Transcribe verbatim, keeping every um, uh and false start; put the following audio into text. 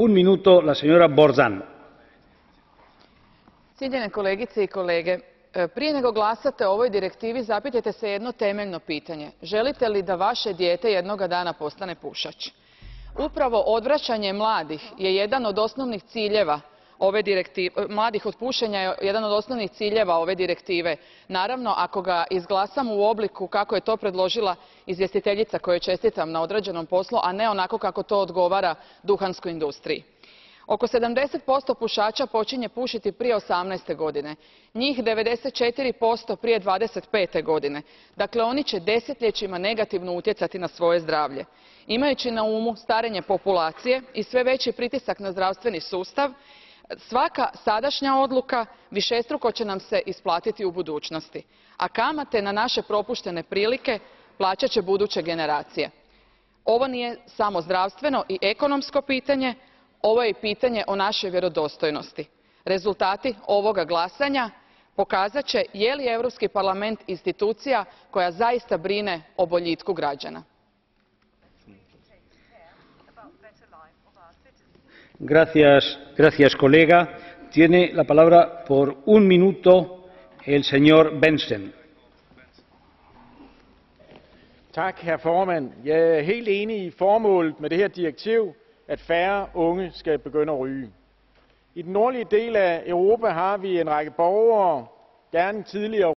un minuto la señora Borzan. Cijenjene kolegice i kolege, prije nego glasate o ovoj direktivi zapitajte se jedno temeljno pitanje. Želite li da vaše dijete jednoga dana postane pušač? Upravo odvraćanje mladih je jedan od osnovnih ciljeva ove direktive, mladih od pušenja je jedan od osnovnih ciljeva ove direktive. Naravno, ako ga izglasamo u obliku kako je to predložila izvjestiteljica kojoj čestitam na odrađenom poslu, a ne onako kako to odgovara duhanskoj industriji. Oko sedamdeset posto pušača počinje pušiti prije osamnaeste godine, njih devedeset četiri posto prije dvadeset pete godine. Dakle, oni će desetljećima negativno utjecati na svoje zdravlje. Imajući na umu starenje populacije i sve veći pritisak na zdravstveni sustav, svaka sadašnja odluka višestruko će nam se isplatiti u budućnosti, a kamate na naše propuštene prilike plaćat će buduće generacije. Ovo nije samo zdravstveno i ekonomsko pitanje, ovo je i pitanje o našoj vjerodostojnosti. Rezultati ovoga glasanja pokazat će je li Europski parlament institucija koja zaista brine o boljitku građana. Gracias, gracias, colega. Tiene la palabra por un minuto el señor Benson. Tak, herr formand. Jeg er helt enig i formålet med det her direktiv, at færre unge skal begynde at ryge. I den nordlige del af Europa har vi en række borgere, gerne tidligere